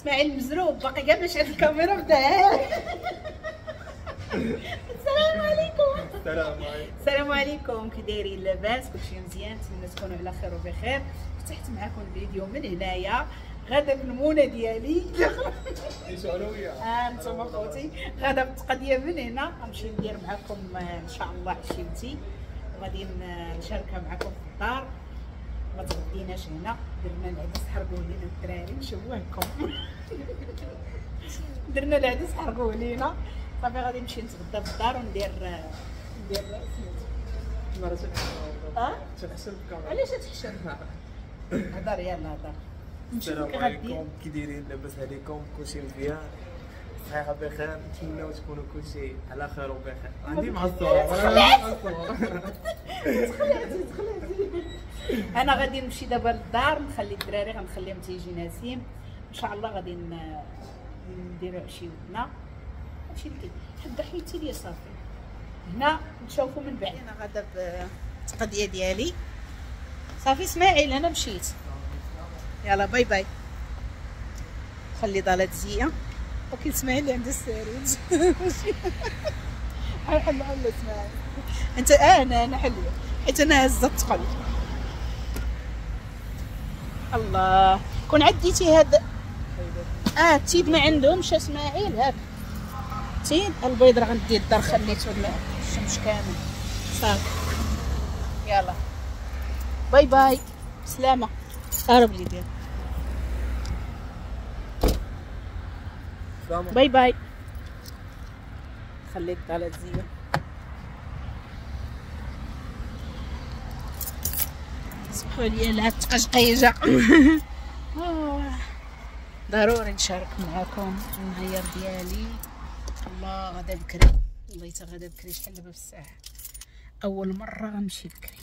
اسماعيل مزروب باقي كاع مش عند الكاميرا بدا. السلام عليكم. السلام عليكم. السلام عليكم، كي دايرين؟ لاباس؟ كلشي مزيان؟ نتمنى تكونوا على خير وبخير. فتحت معكم الفيديو من هنايا غادا بالمونه ديالي. انتم خوتي غادا بالتقضيه من هنا، غنمشي ندير معكم ان شاء الله عشيتي وغادي نشاركها معكم في الدار. ما تغديناش هنا، درنا العدس حرقوه لينا الدراري، نشوهكم. درنا العدس حرقوه لينا، صافي غادي نمشي نتغدى في الدار وندير ندير سميتو. تحشم الكاميرا. علاش تحشم؟ هضر يلاه هضر. السلام عليكم، كي دايرين؟ لاباس عليكم؟ كلشي مزيان؟ صحيحه بخير؟ نتمناو تكونوا كلشي على خير وبخير. عندي مع الصور. تخلعتي تخلعتي. انا غادي نمشي دابا للدار، نخلي الدراري غنخليهم تيجي نسيم ان شاء الله. غادي نديرو عشيوتنا. هادشي اللي كاين، حدا حيتي ليا صافي. هنا نشوفو من بعد. انا غادا بالتقضيه ديالي صافي. اسماعيل انا مشيت، يلا bye bye. خلي ضالات زيه. ولكن اسماعيل اللي عنده السرير. حل حل اسماعيل انت. انا حلوة حيت انا هزه الثقل. الله كون عديتي هاد التيد ما عندهمش اسماعيل. هاك تيد البيض راه غندي الدار، خليته الشمس كامل صافي. يلا bye bye، سلامه. قرب لي ديال bye bye. خلي الضالة تزيد. سمحوا لي على التقشقيجه. ضروري نشارك معكم النهار ديالي. الله غدا بكري، والله حتى غدا بكري. شحال دابا في الساعة؟ اول مرة غنمشي بكري.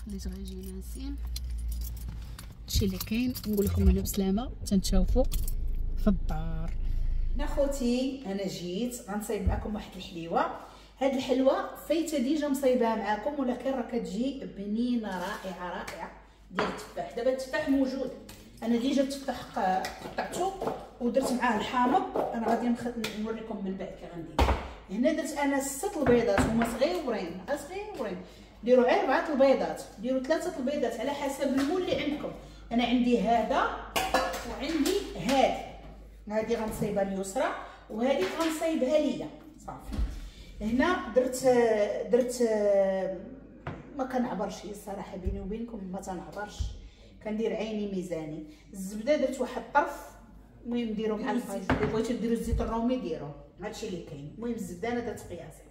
خليت غيجي ناسين. هادشي اللي كاين. نقول لكم انا بسلامه، تنتشوفوا في الدار. هنا خوتي انا جيت غنصايب معكم واحد الحليوه. هاد الحلوة فايته déjà مصايباها معكم، ولكن راه كتجي بنينه رائعة رائعة ديال التفاح. دابا التفاح موجود، انا déjà التفاح قطعته ودرت معاه الحامض. انا غادي نوريكم من بعد كي غندير. هنا درت انا 6 البيضات، هما صغيورين صغيورين. ديروا غير 4 البيضات، ديروا 3 البيضات على حسب ال moule اللي عندكم. انا عندي هذا وعندي هذا. هذه غنصايبها اليسرى وهذه غنصايبها ليا صافي. هنا درت ما كنعبرش الصراحة بيني وبينكم، ما تنعبرش، كندير عيني ميزاني. الزبدة درت واحد الطرف، المهم ديروا مع الزيت، بغيتو ديروا الزيت الرومي ديروه، هادشي اللي كاين. المهم الزبدة انا درت قياسي.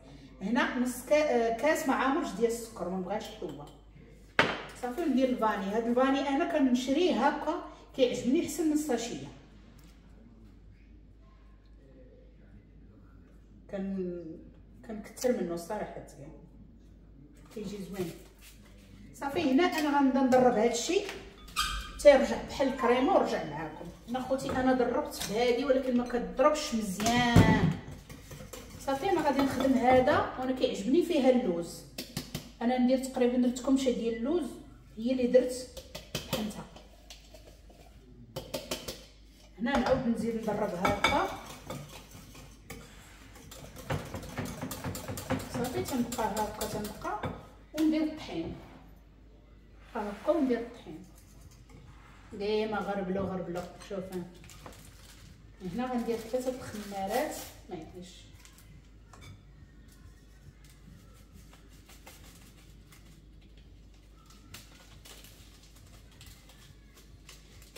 هنا نص كاس مع عامرش ديال السكر، ما بغاش حلوة صافي. ندير ال vanille. هاد ال vanille انا كنشريه هكا كيعجبني احسن من ال sachet. كنكثر منه الصراحة، كيجي زوين صافي. هنا انا غنبدا ندرب هادشي تيرجع بحال الكريمة ورجع معاكم. هنا خوتي انا دربت بهادي ولكن ما كتضربش مزيان صافي. انا غادي نخدم هذا وانا كيعجبني فيها اللوز. انا ندير تقريبا درت كمشه ديال اللوز هي اللي درت طحنتها. هنا نعاود نزيد ندرب هكا صافي. تنبقى هكا تنبقى وندير الطحين هكا وندير الطحين ديما غربلو غربلو. شوف هنا غندير 3 الخمارات ما يديش.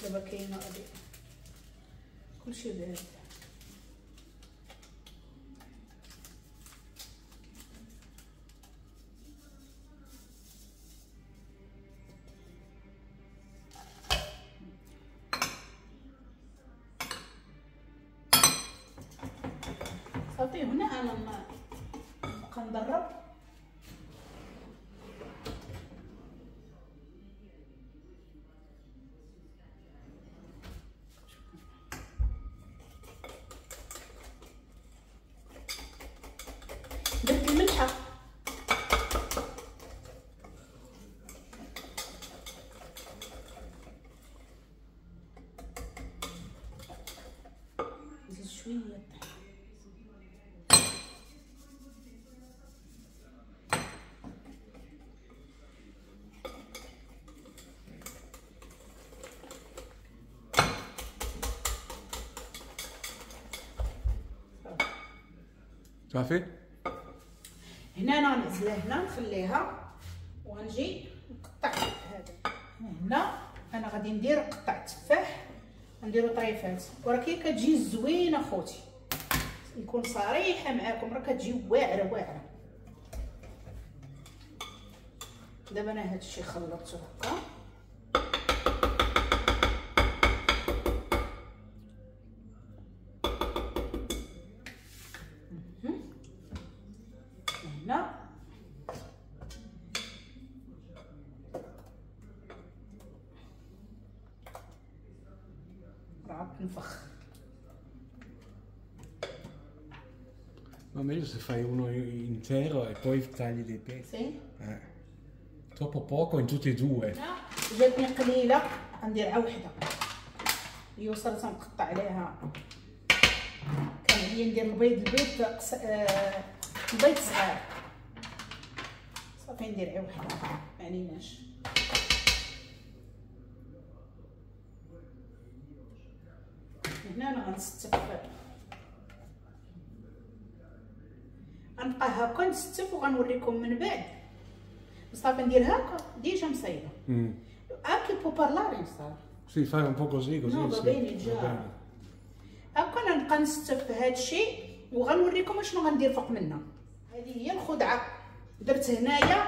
دابا كاينه غادي كلشي بارد. صافي هنا انا نبقى ندرب. درت الملحة شوية الطحين. صافي هنا انا غنعزلها هنا نخليها وغنجي نقطع هذا. هنا انا غادي ندير قطع التفاح، نديرو طريفات، ولكن كتجي زوينة خوتي، نكون صريحه معاكم راه كتجي واعرة واعرة. دابا انا هادشي خلطته هكا، هنا راه تنفخ. Ma meglio se fai uno intero e poi tagli dei pezzi. Sì. Troppo poco in tutti e due. جاتني قليله غندير عا وحده. اليسرى تنقطع عليها، كان عليا ندير البيض، البيض البيض صغير، صافي ندير عا وحده ما عليناش. هنا انا غنستف، غنبقى هكا نستف وغنوريكم من بعد. صافي ندير هكا déjà مصايبه. Anche può parlare مصطفى. Sì, fai un po' così così. No, va bene già. هكا انا نبقى نستف هادشي وغنوريكم اشنو غندير فوق منها. هذه هي الخدعه. درت هنايا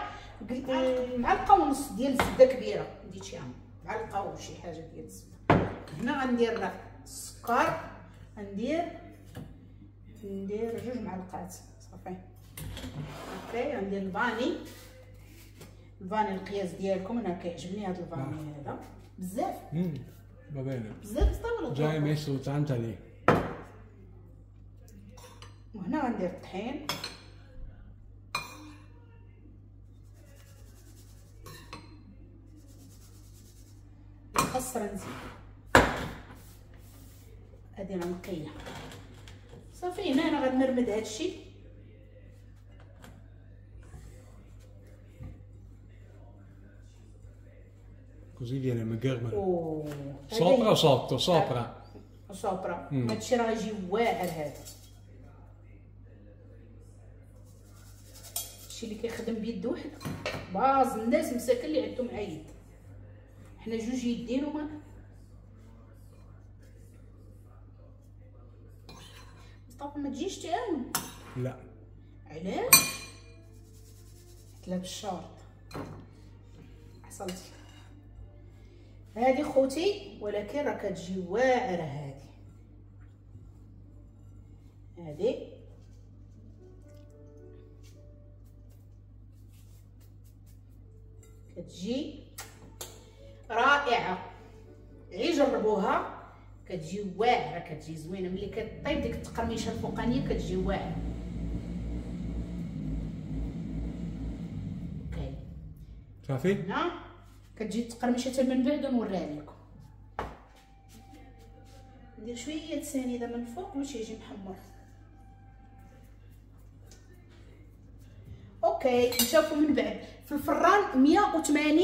معلقه ونص ديال الزبدة كبيرة، ديت شي معلقه وشي حاجة ديال الزبدة. هنا غندير السكر، ندير 2 معلقات صافي. OK غندير ال vanille، ال vanille القياس ديالكم. انا كيعجبني هذا ال vanille هذا بزاف. Va bene بزاف بزاف. Già hai messo tanta lì. وهنا غندير الطحين، نقصر نزيد هادي راه نقية صافي. هنا انا غنمرمد هادشي. Così viene magherma. Sopra o sotto? Sopra. Sopra. هادشي راه غيجي واعر. هذا الشيء اللي كيخدم بيد وحده، باز الناس مساكن اللي عندهم عيد، حنا 2 يدين وما مصطفى ما تجيش تعاون. لا علاش؟ لابس الشورت حصلتي هادي خوتي، ولكن راه كتجي واعرة هادي. هادي كتجي رائعة، غير جربوها كتجي واعرة، كتجي زوينة. ملي كطيب ديك التقرميشه الفوقانيه كتجي واعرة. OK صافي هنا كتجي التقرميشه حتى من بعد ونوريها لكم. ندير شوية سنيده من الفوق باش يجي محمر. OK نشوفوا من بعد في الفران 180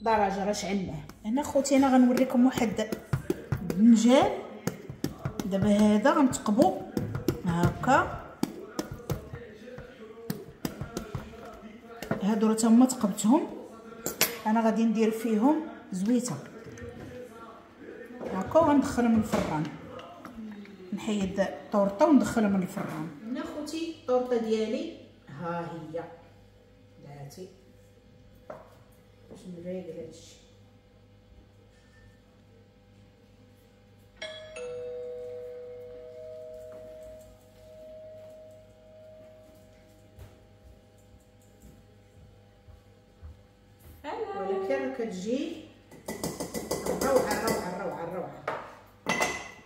درجه راه شعلناه. هنا خوتي انا غنوريكم واحد الدنجال. دابا هذا غنثقبو هكا، هادو راه تما ثقبتهم، انا غادي ندير فيهم زويته هكا وغندخلهم الفران. نحيد الطورطه وندخلهم الفران. هنا خوتي الطورطه ديالي ها هي داتي باش نريقل هادشي. ولكن كتجي روعه روعه روعه روعه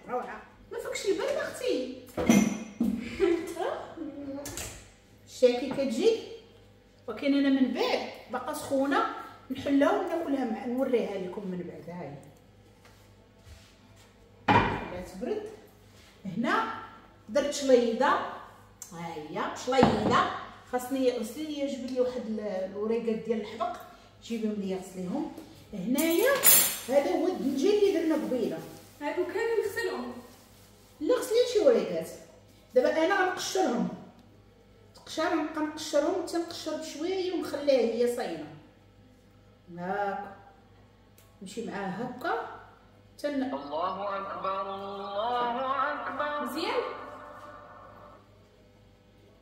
روعه. ما فكش البرد اختي. الشاكي كتجي، ولكن انا من بعد باقا سخونة نحلها وناكلها مع نوريها لكم من بعد. هاي لا تبرد. هنا درت شليضه، ها هي شليضه. خاصني غسلي لي، جيب لي واحد الوريقات ديال الحبق، جيبهم لي غسليهم. هنايا هذا هو الدنجال اللي درنا قبيلة. هادو كامل نغسلهم؟ لا غسلي شي وريقات. دابا انا غنقشرهم تقشر، نبقى نقشرهم حتى نقشر بشوية ونخليها هي صاينه هاكا، نمشي معاه هكا حتى الله اكبر الله اكبر. مزيان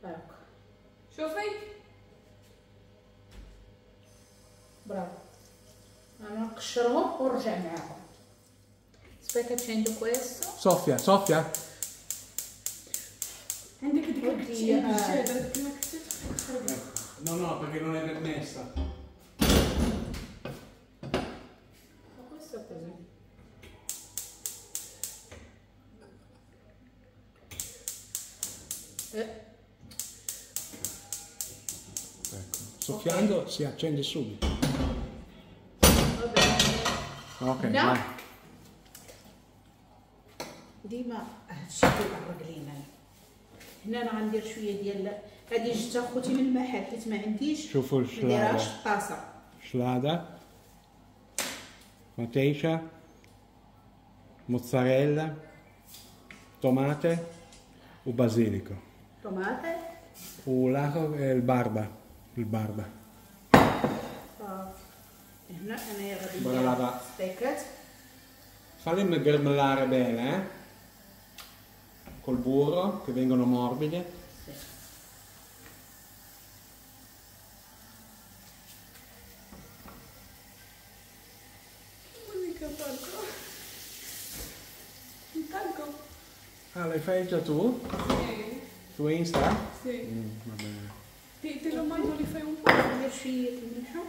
هاكا، شوفي برافو. انا نقشرهم ونرجع معاكم. Stai facendo questo. Soffia, soffia. عندك ديك الكتشة، ديك الكتشة تخرب. No, no, perché non è permessa. Ma questo così. Ecco, soffiando si accende subito. Va bene. Ok, vai. ديما هادشي كيضرب لينا. هنا انا غندير شوية ديال هادي، جبتها خوتي من المحل حيت ما عنديش. شوفوا الشلاضه، ما دايرهاش في الطاسه. شلاضه، مطيشه، mozzarella، tomate و basilico. Tomate ولاخر الباربا، الباربا. هنا انايا غادي ندير ستيكات. Falli gremellare bene, eh? Col burro, che vengono morbide. Sì. Ah, l'hai fai già tu? Sì. Su Insta? Sì. Va bene. Te lo mando, li fai un po'? ندير شوية الملحة.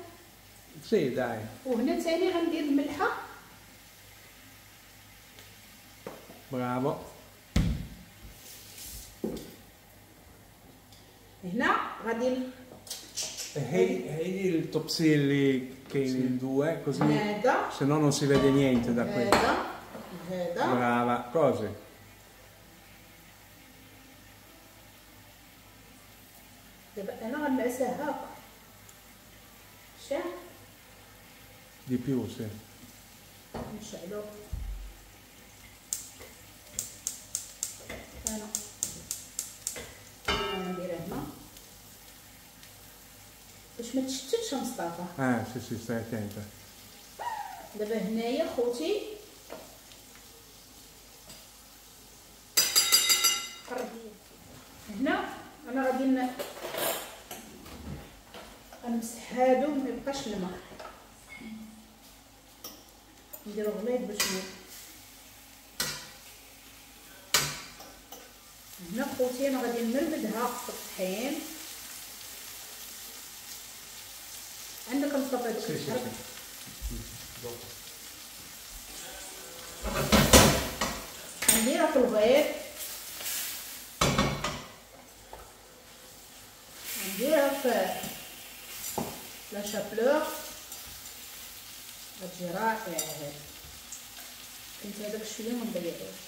Sì, dai. وهنا ثاني غندير الملحة. Bravo. هنا غادي هيدي التوبسي اللي كاينين due così هذا، se no non si vede niente da qui. هذا هذا. Brava, così. دابا انا غنمعسها هاكا. شاف؟ Di più, sì. نشعلو. انا نديرها هنا باش ما تشتتش مصطفى. Sì sì, stai attenta. دابا هنايا خوتي قرب هنا، انا غادي نمسح هادو ما يبقاش الماء، نديرو غليظ باش هنا خوتي انا غادي نمرمدها في الطحين. عندك مصطفى هادشي؟ Sì, sì, sì. نديرها في البيض، نديرها في la chapelure، غتجي رائعة هادي. كنت هذاك شوية ما نضيعوش.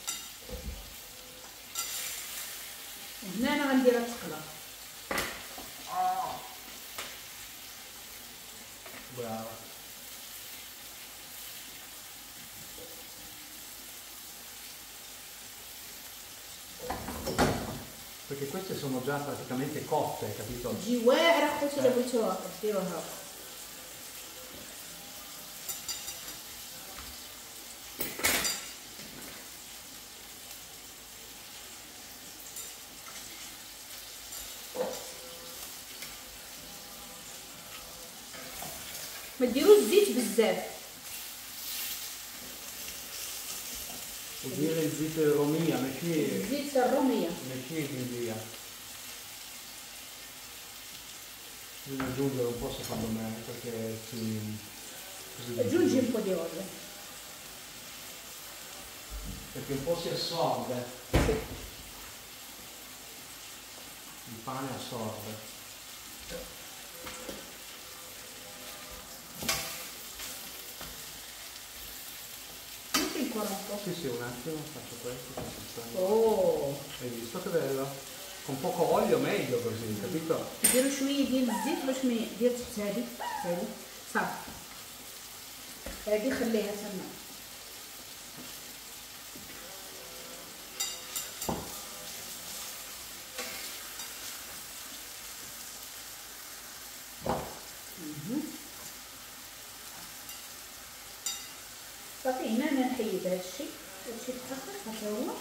وهنا انا غنديرها تقلى. Brava. Perché queste sono già praticamente cotte, capito? تجي واعرة خوتي الا بغيتوها ديروها. ما ديروش الزيت بزاف. وديري الزيت الرومية، ماشي الزيت الرومية، ماشي الهندية. Bisogna aggiungere un po' secondo me, perché si... Aggiungi un po' di olio. Perché un po' si assorbe. Sì. Il pane assorbe. ممكن ancora un po'. Sì, sì, un attimo, faccio questo. Faccio Oh! Hai visto che bello? Con poco olio meglio così, capito? ديروا شويه ديال الزيت باش ما دير تحت هذه هذه صافي. هذه خليها تما. صافي هنا انا نحيد هادشي تاخر هذا هو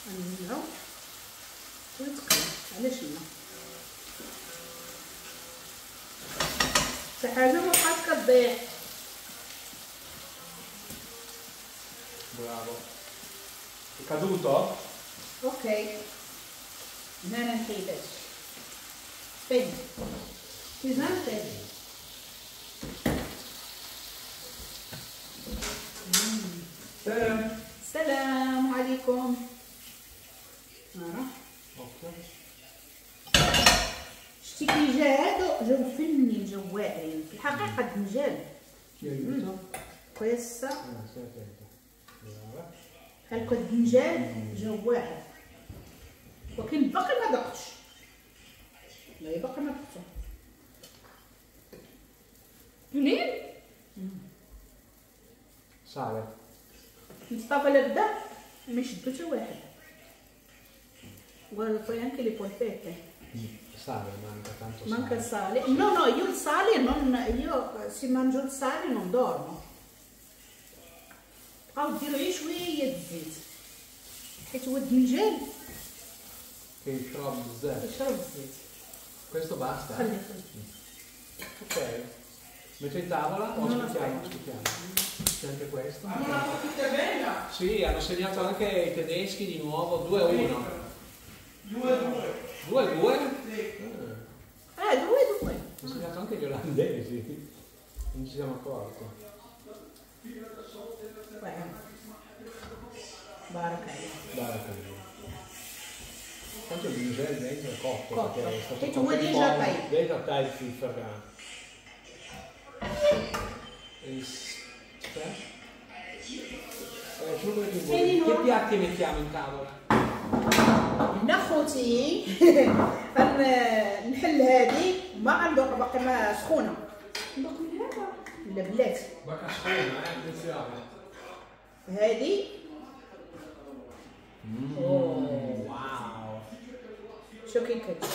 غنجمعو ويتقلى. علاش لا؟ حتى حاجه ما بقات كتضيع. Bravo. È caduto? Ok. هنا انا نحيد هادشي. Spegni. Pesante. سلام. السلام عليكم. شتي كي جا هادو جاو فنين، جاو واعرين في الحقيقة. الدنجال كويسة بحال هكا، الدنجال جاو واعر، ولكن باقي ما دقتش. لا باقي ما دقتو. منين؟ Sale. مصطفى لا بدا ما يشدو حتى واحد. Guarda, poi anche le polpette. Sale, manca tanto sale. Manca il sale. No, no, io il sale non. Io se mangio il sale non dormo. بقاو ديروا غير شوية الزيت حيت هو الدنجال كيشرب بزاف. كيشرب الزيت. Questo basta? خلي خلي. Ok. Metto in tavola o aspettiamo? Aspettiamo. C'è anche questo. Una partita bella! Sì, hanno segnato anche i tedeschi di nuovo 2-1. 2-2. 2-2? Sì. Ah, 2-2. Hanno segnato anche gli olandesi. Non ci siamo accorti. بارك عليك. بارك عليك. Tanto il brinjal dentro è cotto, cotto. Perché è stato e tu vuoi déjà tagliato. Déjà tagliato il ferrano. Che piatti mettiamo in tavola? هنا خوتي غنحل هادي ما غندوق باقي ما سخونه. ندوق من هذا؟ لا بلاتي. باقا سخونه attenzione. هادي واو شو كي كتجي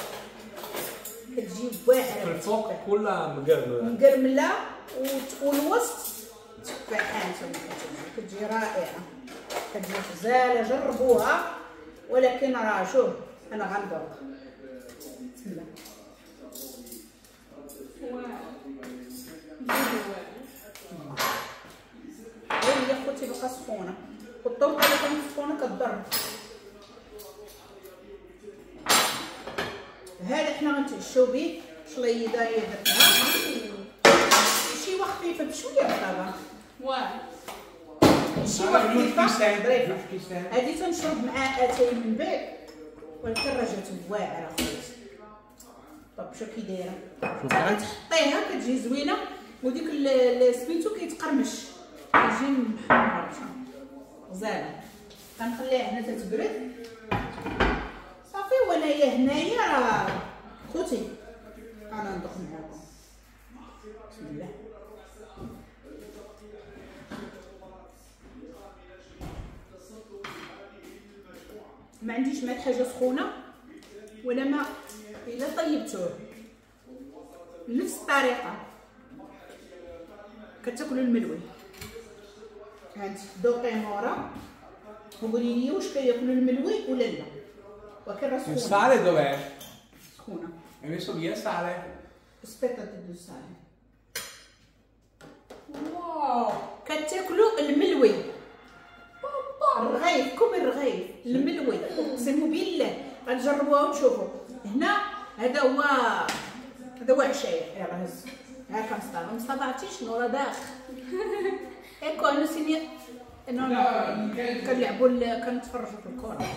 كتجي واعره. في الفوق كلها مقرمله مقرمله والوسط تفاحات. كتجي رائعه، كتجي غزاله. جربوها، ولكن راه شوف انا غندوق. بسم الله. هي خوتي باقا سخونه، والطرقه اللي كانت سخونه كضر. هذا حنا غنتعشاو به. شليضه هي درتها شي خفيفه بشويه طبعا. واه شي خفيفه ظريفه. هادي تنشرب مع اتاي من بعد، ولكن راه جات واعره خوتي. طب شو كي دايره تحطيها كتجي زوينه، وديك سميتو كيتقرمش كيجي محمر غزاله. غنخليها هنا تتبرد صافي. وانايا هنايا راه خوتي انا ندوق معاكم. بسم الله. ما عنديش مع حاجه سخونه ولا ما الا طيبتوه نفس الطريقه كتاكلوا الملوي. هانتي دوقي مورا وقولي لي واش كياكلوا الملوي ولا لا. ولكن راه سخونه. Il sale dov'è? سخونه. Hai messo via sale? Aspetta di sale. واو كتاكلوا الملوي الرغيف، كوم الرغيف الملوي اقسم بالله غتجربوها وتشوفوا. هنا هذا هو هذا هو عشايا. يلاه هز هاكا مصطفى. مصطفى عرفتي شنو راه داخ ecco انا سيني no كنلعبوا كنتفرجوا في الكره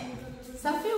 صافي.